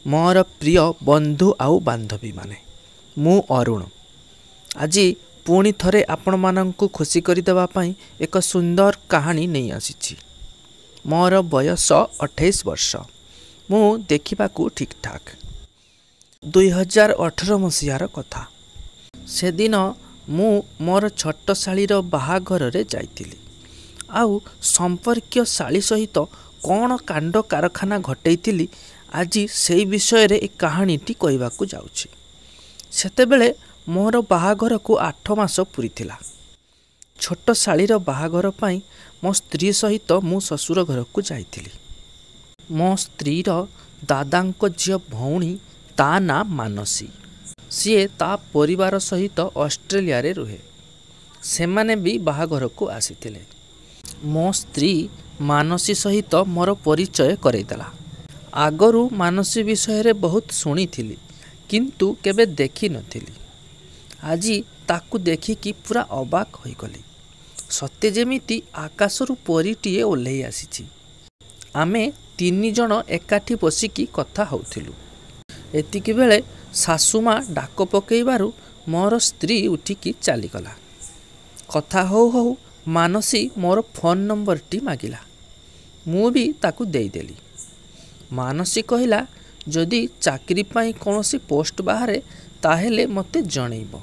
ମୋର ପ୍ରିୟ ବନ୍ଧୁ ଆଉ ବାନ୍ଧବୀମାନେ, ମୁଁ ଅରୁଣ ଆଜି ପୁଣି ଥରେ ଆପଣମାନଙ୍କୁ ଖୁସି କରିଦେବା ପାଇଁ ଏକ ସୁନ୍ଦର କାହାଣୀ ନେଇ ଆସିଛି। ମୋର ବୟସ 28 ବର୍ଷ। ମୁଁ ଦେଖିବାକୁ ଠିକ୍ଠାକ୍। 2018 ମସିହାର କଥା। ସେଦିନ ମୁଁ ମୋର ଛୋଟ ଶାଳୀର ବାହାଘରରେ ଯାଇଥିଲି, ଆଉ ସମ୍ପର୍କୀୟ ଶାଳୀ ସହିତ କ'ଣ କାଣ୍ଡ କାରଖାନା ଘଟେଇଥିଲି, ଆଜି ସେଇ ବିଷୟରେ ଏ କାହାଣୀଟି କହିବାକୁ ଯାଉଛି। ସେତେବେଳେ ମୋର ବାହାଘରକୁ 8 ମାସ ପୂରିଥିଲା। ଛୋଟ ଶାଳୀର ବାହାଘର ପାଇଁ ମୋ ସ୍ତ୍ରୀ ସହିତ ମୁଁ ଶ୍ୱଶୁର ଘରକୁ ଯାଇଥିଲି। ମୋ ସ୍ତ୍ରୀର ଦାଦାଙ୍କ ଝିଅ ଭଉଣୀ, ତା ନାଁ ମାନସୀ। ସିଏ ତା ପରିବାର ସହିତ ଅଷ୍ଟ୍ରେଲିଆରେ ରୁହେ। ସେମାନେ ବି ବାହାଘରକୁ ଆସିଥିଲେ। ମୋ ସ୍ତ୍ରୀ ମାନସୀ ସହିତ ମୋର ପରିଚୟ କରେଇଦେଲା। ଆଗରୁ ମାନସୀ ବିଷୟରେ ବହୁତ ଶୁଣିଥିଲି, କିନ୍ତୁ କେବେ ଦେଖିନଥିଲି। ଆଜି ତାକୁ ଦେଖିକି ପୁରା ଅବାକ୍ ହୋଇଗଲି। ସତେ ଯେମିତି ଆକାଶରୁ ପରୀଟିଏ ଓହ୍ଲେଇ ଆସିଛି। ଆମେ 3 ଜଣ ଏକାଠି ବସିକି କଥା ହେଉଥିଲୁ। ଏତିକିବେଳେ ଶାଶୁମା ଡାକ ପକେଇବାରୁ ମୋର ସ୍ତ୍ରୀ ଉଠିକି ଚାଲିଗଲା। କଥା ହଉ ହଉ ମାନସୀ ମୋର ଫୋନ୍ ନମ୍ବରଟି ମାଗିଲା। ମୁଁ ବି ତାକୁ ଦେଇଦେଲି। ମାନସୀ କହିଲା, ଯଦି ଚାକିରି ପାଇଁ କୌଣସି ପୋଷ୍ଟ ବାହାରେ ତାହେଲେ ମୋତେ ଜଣେଇବ।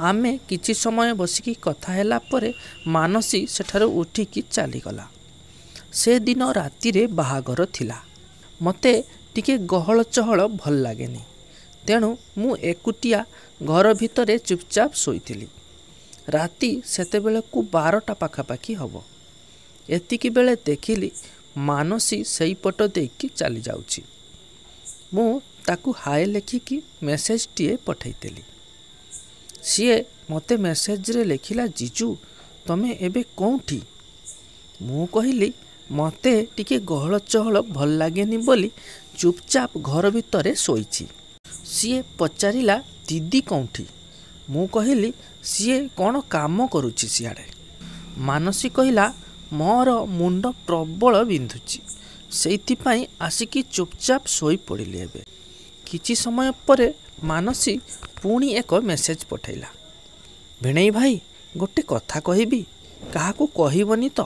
ଆମେ କିଛି ସମୟ ବସିକି କଥା ହେଲା ପରେ ମାନସୀ ସେଠାରୁ ଉଠିକି ଚାଲିଗଲା। ସେଦିନ ରାତିରେ ବାହାଘର ଥିଲା। ମୋତେ ଟିକେ ଗହଳ ଚହଳ ଭଲ ଲାଗେନି, ତେଣୁ ମୁଁ ଏକୁଟିଆ ଘର ଭିତରେ ଚୁପଚାପ ଶୋଇଥିଲି। ରାତି ସେତେବେଳକୁ 12ଟା ପାଖାପାଖି ହେବ। ଏତିକି ବେଳେ ଦେଖିଲି ମାନସୀ ସେଇପଟ ଦେଇକି ଚାଲିଯାଉଛି। ମୁଁ ତାକୁ ହାଏ ଲେଖିକି ମେସେଜଟିଏ ପଠେଇଦେଲି। ସିଏ ମୋତେ ମେସେଜରେ ଲେଖିଲା, ଜିଜୁ ତମେ ଏବେ କେଉଁଠି? ମୁଁ କହିଲି, ମୋତେ ଟିକେ ଗହଳ ଚହଳ ଭଲ ଲାଗେନି ବୋଲି ଚୁପଚାପ ଘର ଭିତରେ ଶୋଇଛି। ସିଏ ପଚାରିଲା, ଦିଦି କେଉଁଠି? ମୁଁ କହିଲି, ସିଏ କ'ଣ କାମ କରୁଛି ସିଆଡ଼େ। ମାନସୀ କହିଲା, ମୋର ମୁଣ୍ଡ ପ୍ରବଳ ବିନ୍ଧୁଛି, ସେଇଥିପାଇଁ ଆସିକି ଚୁପଚାପ ଶୋଇପଡ଼ିଲି ଏବେ। କିଛି ସମୟ ପରେ ମାନସୀ ପୁଣି ଏକ ମେସେଜ ପଠେଇଲା, ଭିଣେଇ ଭାଇ ଗୋଟେ କଥା କହିବି, କାହାକୁ କହିବନି ତ?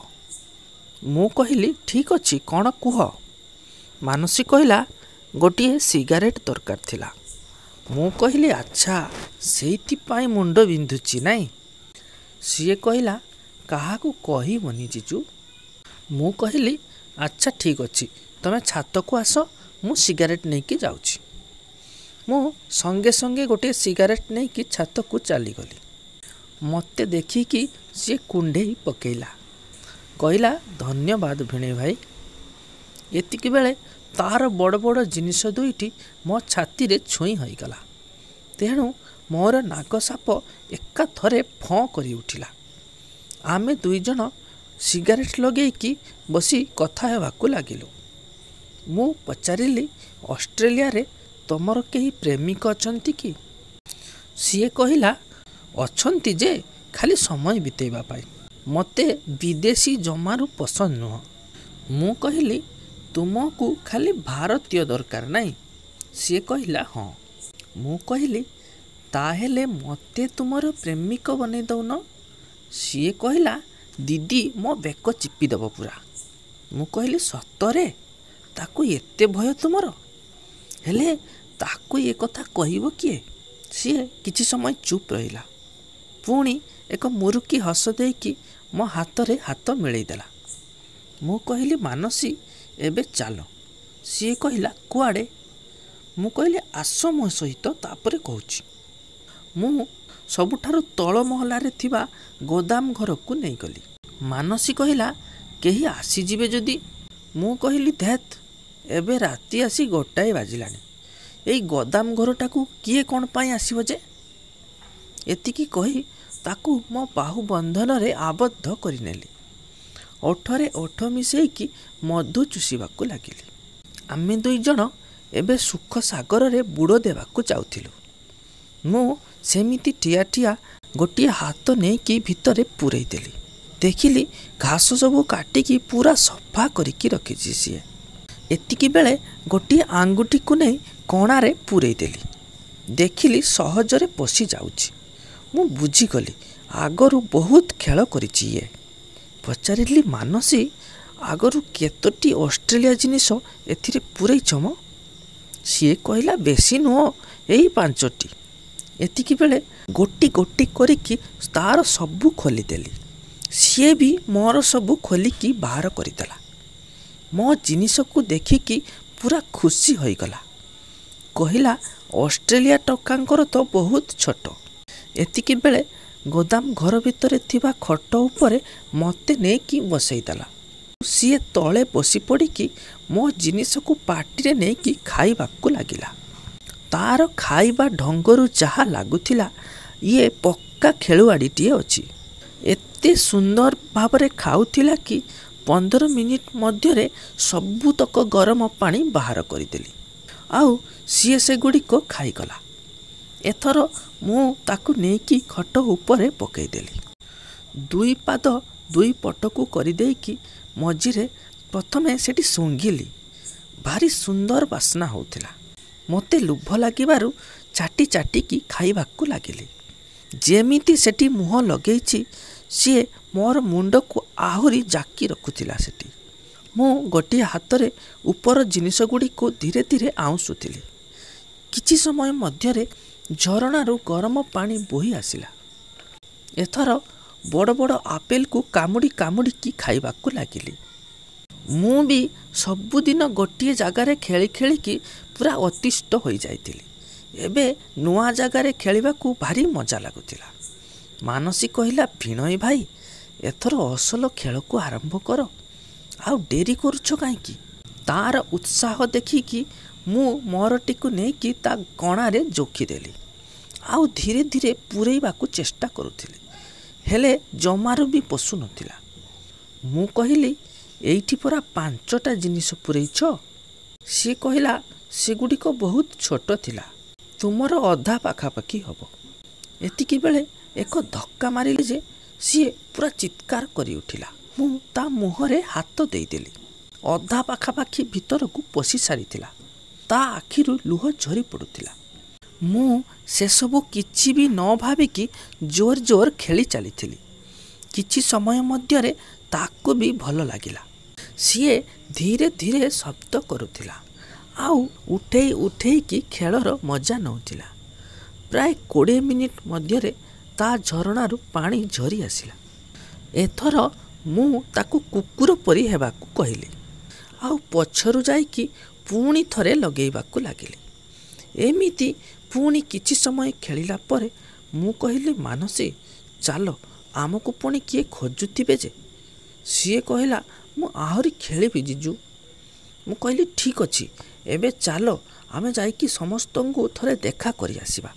ମୁଁ କହିଲି, ଠିକ୍ ଅଛି, କ'ଣ କୁହ? ମାନସୀ କହିଲା, ଗୋଟିଏ ସିଗାରେଟ୍ ଦରକାର ଥିଲା। ମୁଁ କହିଲି, ଆଚ୍ଛା, ସେଇଥିପାଇଁ ମୁଣ୍ଡ ବିନ୍ଧୁଛି ନାଇଁ? ସିଏ କହିଲା, କାହାକୁ କହିବନି ଜିଜୁ। ମୁଁ କହିଲି, ଆଚ୍ଛା ଠିକ୍ ଅଛି, ତମେ ଛାତକୁ ଆସ, ମୁଁ ସିଗାରେଟ୍ ନେଇକି ଯାଉଛି। ମୁଁ ସଙ୍ଗେ ସଙ୍ଗେ ଗୋଟିଏ ସିଗାରେଟ୍ ନେଇକି ଛାତକୁ ଚାଲିଗଲି। ମୋତେ ଦେଖିକି ସିଏ କୁଣ୍ଢେଇ ପକେଇଲା, କହିଲା, ଧନ୍ୟବାଦ ଭିଣେଇ ଭାଇ। ଏତିକିବେଳେ ତାର ବଡ଼ ବଡ଼ ଜିନିଷ ଦୁଇଟି ମୋ ଛାତିରେ ଛୁଇଁ ହୋଇଗଲା। ତେଣୁ ମୋର ନାଗ ସାପ ଏକାଥରେ ଫଁ କରି ଉଠିଲା। ଆମେ 2 ଜଣ ସିଗାରେଟ୍ ଲଗେଇକି ବସି କଥା ହେବାକୁ ଲାଗିଲୁ। ମୁଁ ପଚାରିଲି, ଅଷ୍ଟ୍ରେଲିଆରେ ତମର କେହି ପ୍ରେମିକ ଅଛନ୍ତି କି? ସିଏ କହିଲା, ଅଛନ୍ତି ଯେ, ଖାଲି ସମୟ ବିତେଇବା ପାଇଁ। ମୋତେ ବିଦେଶୀ ଜମାରୁ ପସନ୍ଦ ନୁହଁ। ମୁଁ କହିଲି, ତୁମକୁ ଖାଲି ଭାରତୀୟ ଦରକାର ନାଇଁ? ସିଏ କହିଲା, ହଁ। ମୁଁ କହିଲି, ତାହେଲେ ମୋତେ ତୁମର ପ୍ରେମିକ ବନେଇ ଦଉନ? ସିଏ କହିଲା, ଦିଦି ମୋ ବେକ ଚିପିଦେବ ପୁରା। ମୁଁ କହିଲି, ସତରେ ତାକୁ ଏତେ ଭୟ ତୁମର? ହେଲେ ତାକୁ ଏ କଥା କହିବ କିଏ? ସିଏ କିଛି ସମୟ ଚୁପ୍ ରହିଲା। ପୁଣି ଏକ ମୁରୁକି ହସ ଦେଇକି ମୋ ହାତରେ ହାତ ମିଳେଇଦେଲା। ମୁଁ କହିଲି, ମାନସୀ ଏବେ ଚାଲ। ସିଏ କହିଲା, କୁଆଡ଼େ? ମୁଁ କହିଲି, ଆସ ମୋ ସହିତ, ତାପରେ କହୁଛି। ମୁଁ ସବୁଠାରୁ ତଳ ମହଲାରେ ଥିବା ଗୋଦାମ ଘରକୁ ନେଇଗଲି। ମାନସୀ କହିଲା, କେହି ଆସିଯିବେ ଯଦି? ମୁଁ କହିଲି, ଧେତ୍, ଏବେ ରାତି ଆସି 1 ବାଜିଲାଣି, ଏଇ ଗୋଦାମ ଘରଟାକୁ କିଏ କ'ଣ ପାଇଁ ଆସିବ ଯେ? ଏତିକି କହି ତାକୁ ମୋ ବାହୁ ବନ୍ଧନରେ ଆବଦ୍ଧ କରିନେଲି। ଓଠରେ ଓଠ ମିଶେଇକି ମଧୁ ଚୁଷିବାକୁ ଲାଗିଲି। ଆମେ 2 ଜଣ ଏବେ ସୁଖ ସାଗରରେ ବୁଡ଼ ଦେବାକୁ ଯାଉଥିଲୁ। ମୁଁ ସେମିତି ଠିଆ ଠିଆ ଗୋଟିଏ ହାତ ନେଇକି ଭିତରେ ପୂରେଇ ଦେଲି। ଦେଖିଲି ଘାସ ସବୁ କାଟିକି ପୁରା ସଫା କରିକି ରଖିଛି ସିଏ। ଏତିକି ବେଳେ ଗୋଟିଏ ଆଙ୍ଗୁଠିକୁ ନେଇ କଣାରେ ପୂରେଇ ଦେଲି। ଦେଖିଲି ସହଜରେ ପଶି ଯାଉଛି। ମୁଁ ବୁଝିଗଲି ଆଗରୁ ବହୁତ ଖେଳ କରିଛି ଇଏ। ପଚାରିଲି, ମାନସୀ, ଆଗରୁ କେତୋଟି ଅଷ୍ଟ୍ରେଲିଆ ଜିନିଷ ଏଥିରେ ପୂରେଇଛ ମ? ସିଏ କହିଲା, ବେଶୀ ନୁହଁ, ଏଇ 5ଟି। ଏତିକି ବେଳେ ଗୋଟି ଗୋଟି କରିକି ତାର ସବୁ ଖୋଲିଦେଲି। ସିଏ ବି ମୋର ସବୁ ଖୋଲିକି ବାହାର କରିଦେଲା। ମୋ ଜିନିଷକୁ ଦେଖିକି ପୁରା ଖୁସି ହୋଇଗଲା। କହିଲା, ଅଷ୍ଟ୍ରେଲିଆ ଟୋକାଙ୍କର ତ ବହୁତ ଛୋଟ। ଏତିକି ବେଳେ ଗୋଦାମ ଘର ଭିତରେ ଥିବା ଖଟ ଉପରେ ମୋତେ ନେଇକି ବସେଇଦେଲା। ସିଏ ତଳେ ବସି ପଡ଼ିକି ମୋ ଜିନିଷକୁ ପାଟିରେ ନେଇକି ଖାଇବାକୁ ଲାଗିଲା। ତାର ଖାଇବା ଢଙ୍ଗରୁ ଯାହା ଲାଗୁଥିଲା, ଇଏ ପକ୍କା ଖେଳୁଆଡ଼ିଟିଏ ଅଛି। ଏତେ ସୁନ୍ଦର ଭାବରେ ଖାଉଥିଲା କି 15 ମିନିଟ୍ ମଧ୍ୟରେ ସବୁତକ ଗରମ ପାଣି ବାହାର କରିଦେଲି, ଆଉ ସିଏ ସେଗୁଡ଼ିକ ଖାଇଗଲା। ଏଥର ମୁଁ ତାକୁ ନେଇକି ଖଟ ଉପରେ ପକେଇଦେଲି। ଦୁଇ ପାଦ ଦୁଇ ପଟକୁ କରିଦେଇକି ମଝିରେ ପ୍ରଥମେ ସେଠି ଶୁଙ୍ଘିଲି। ଭାରି ସୁନ୍ଦର ବାସ୍ନା ହେଉଥିଲା। ମୋତେ ଲୋଭ ଲାଗିବାରୁ ଚାଟି ଚାଟିକି ଖାଇବାକୁ ଲାଗିଲି। ଯେମିତି ସେଠି ମୁହଁ ଲଗେଇଛି, ସିଏ ମୋର ମୁଣ୍ଡକୁ ଆହୁରି ଜାକି ରଖୁଥିଲା ସେଠି। ମୁଁ ଗୋଟିଏ ହାତରେ ଉପର ଜିନିଷଗୁଡ଼ିକୁ ଧୀରେ ଧୀରେ ଆଉଁସୁଥିଲି। କିଛି ସମୟ ମଧ୍ୟରେ ଝରଣାରୁ ଗରମ ପାଣି ବୋହି ଆସିଲା। ଏଥର ବଡ଼ ବଡ଼ ଆପେଲକୁ କାମୁଡ଼ି କାମୁଡ଼ିକି ଖାଇବାକୁ ଲାଗିଲି। ମୁଁ ବି ସବୁଦିନ ଗୋଟିଏ ଜାଗାରେ ଖେଳି ଖେଳିକି ପୁରା ଅତିଷ୍ଠ ହୋଇଯାଇଥିଲି। ଏବେ ନୂଆ ଜାଗାରେ ଖେଳିବାକୁ ଭାରି ମଜା ଲାଗୁଥିଲା। ମାନସୀ କହିଲା, ଭିଣୋଇ ଭାଇ, ଏଥର ଅସଲ ଖେଳକୁ ଆରମ୍ଭ କର, ଆଉ ଡେରି କରୁଛ କାହିଁକି? ତାର ଉତ୍ସାହ ଦେଖିକି ମୁଁ ମୋରଟିକୁ ନେଇକି ତା କଣାରେ ଜୋଖିଦେଲି, ଆଉ ଧୀରେ ଧୀରେ ପୂରେଇବାକୁ ଚେଷ୍ଟା କରୁଥିଲି, ହେଲେ ଜମାରୁ ବି ପଶୁନଥିଲା। ମୁଁ କହିଲି, ଏଇଠି ପରା 5ଟା ଜିନିଷ ପୂରେଇଛ। ସିଏ କହିଲା, ସେଗୁଡ଼ିକ ବହୁତ ଛୋଟ ଥିଲା, ତୁମର ଅଧା ପାଖାପାଖି ହେବ। ଏତିକି ବେଳେ ଏକ ଧକ୍କା ମାରିଲି ଯେ ସିଏ ପୁରା ଚିତ୍କାର କରି ଉଠିଲା। ମୁଁ ତା ମୁହଁରେ ହାତ ଦେଇଦେଲି। ଅଧା ପାଖାପାଖି ଭିତରକୁ ପଶି ସାରିଥିଲା। ତା ଆଖିରୁ ଲୁହ ଝରି ପଡ଼ୁଥିଲା। ମୁଁ ସେସବୁ କିଛି ବି ନ ଭାବିକି ଜୋର ଜୋର ଖେଳି ଚାଲିଥିଲି। କିଛି ସମୟ ମଧ୍ୟରେ ତାକୁ ବି ଭଲ ଲାଗିଲା। ସିଏ ଧୀରେ ଧୀରେ ଶବ୍ଦ କରୁଥିଲା ଆଉ ଉଠେଇ ଉଠେଇକି ଖେଳର ମଜା ନେଉଥିଲା। ପ୍ରାୟ 20 ମିନିଟ୍ ମଧ୍ୟରେ ତା ଝରଣାରୁ ପାଣି ଝରି ଆସିଲା। ଏଥର ମୁଁ ତାକୁ କୁକୁର ପରି ହେବାକୁ କହିଲି, ଆଉ ପଛରୁ ଯାଇକି ପୁଣି ଥରେ ଲଗେଇବାକୁ ଲାଗିଲି। ଏମିତି ପୁଣି କିଛି ସମୟ ଖେଳିଲା ପରେ ମୁଁ କହିଲି, ମାନସୀ, ଚାଲ, ଆମକୁ ପୁଣି କିଏ ଖୋଜୁଥିବେ ଯେ। ସିଏ କହିଲା, ମୁଁ ଆହୁରି ଖେଳିବି ଜିଜୁ। ମୁଁ କହିଲି, ଠିକ୍ ଅଛି, ଏବେ ଚାଲ ଆମେ ଯାଇକି ସମସ୍ତଙ୍କୁ ଥରେ ଦେଖା କରି ଆସିବା,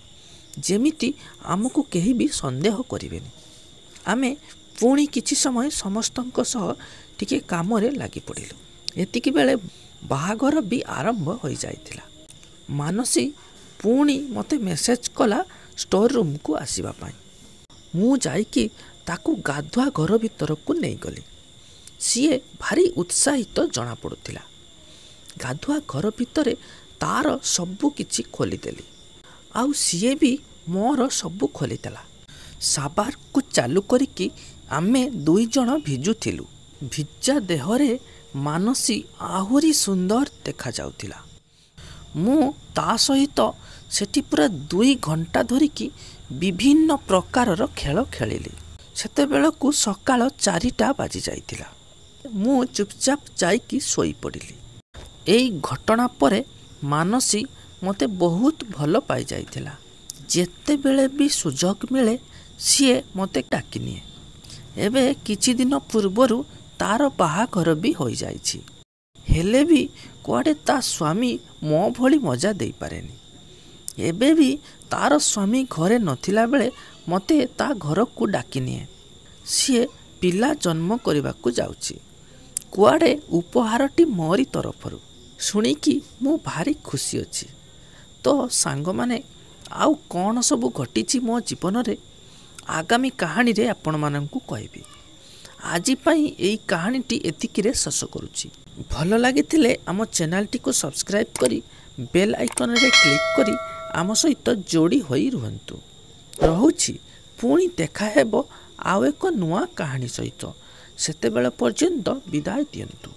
ଯେମିତି ଆମକୁ କେହି ବି ସନ୍ଦେହ କରିବେନି। ଆମେ ପୁଣି କିଛି ସମୟ ସମସ୍ତଙ୍କ ସହ ଟିକେ କାମରେ ଲାଗି ପଡ଼ିଲୁ। ଏତିକି ବେଳେ ବାହାଘର ବି ଆରମ୍ଭ ହୋଇଯାଇଥିଲା। ମାନସୀ ପୁଣି ମୋତେ ମେସେଜ କଲା ଷ୍ଟୋର ରୁମ୍କୁ ଆସିବା ପାଇଁ। ମୁଁ ଯାଇକି ତାକୁ ଗାଧୁଆ ଘର ଭିତରକୁ ନେଇଗଲି। ସିଏ ଭାରି ଉତ୍ସାହିତ ଜଣାପଡ଼ୁଥିଲା। ଗାଧୁଆ ଘର ଭିତରେ ତାର ସବୁ କିଛି ଖୋଲିଦେଲି, ଆଉ ସିଏ ବି ମୋର ସବୁ ଖୋଲିଦେଲା। ସାବାରକୁ ଚାଲୁ କରିକି ଆମେ ଦୁଇ ଜଣ ଭିଜୁଥିଲୁ। ଭିଜା ଦେହରେ ମାନସୀ ଆହୁରି ସୁନ୍ଦର ଦେଖାଯାଉଥିଲା। ମୁଁ ତା ସହିତ ସେଠି ପୁରା 2 ଘଣ୍ଟା ଧରିକି ବିଭିନ୍ନ ପ୍ରକାରର ଖେଳ ଖେଳିଲି। ସେତେବେଳକୁ ସକାଳ 4ଟା ବାଜି ଯାଇଥିଲା। ମୁଁ ଚୁପଚାପ ଯାଇକି ଶୋଇପଡ଼ିଲି। ଏଇ ଘଟଣା ପରେ ମାନସୀ ମୋତେ ବହୁତ ଭଲ ପାଇଯାଇଥିଲା। ଯେତେବେଳେ ବି ସୁଯୋଗ ମିଳେ, ସିଏ ମୋତେ ଡାକିନିଏ। ଏବେ କିଛି ଦିନ ପୂର୍ବରୁ ତାର ବାହାଘର ବି ହୋଇଯାଇଛି। ହେଲେ ବି କୁଆଡ଼େ ତା ସ୍ୱାମୀ ମୋ ଭଳି ମଜା ଦେଇପାରେନି। ଏବେ ବି ତାର ସ୍ୱାମୀ ଘରେ ନଥିଲା ବେଳେ ମୋତେ ତା ଘରକୁ ଡାକିନିଏ। ସିଏ ପିଲା ଜନ୍ମ କରିବାକୁ ଯାଉଛି, କୁଆଡ଼େ ଉପହାରଟି ମୋରି ତରଫରୁ। ଶୁଣିକି ମୁଁ ଭାରି ଖୁସି ଅଛି। ତ ସାଙ୍ଗମାନେ, ଆଉ କ'ଣ ସବୁ ଘଟିଛି ମୋ ଜୀବନରେ, ଆଗାମୀ କାହାଣୀରେ ଆପଣମାନଙ୍କୁ କହିବି। ଆଜି ପାଇଁ ଏଇ କାହାଣୀଟି ଏତିକିରେ ଶେଷ କରୁଛି। ଭଲ ଲାଗିଥିଲେ ଆମ ଚ୍ୟାନେଲଟିକୁ ସବସ୍କ୍ରାଇବ୍ କରି ବେଲ୍ ଆଇକନ୍ରେ କ୍ଲିକ୍ କରି ଆମ ସହିତ ଯୋଡ଼ି ହୋଇ ରୁହନ୍ତୁ। ରହୁଛି, ପୁଣି ଦେଖାହେବ ଆଉ ଏକ ନୂଆ କାହାଣୀ ସହିତ। ସେତେବେଳ ପର୍ଯ୍ୟନ୍ତ ବିଦାୟ ଦିଅନ୍ତୁ।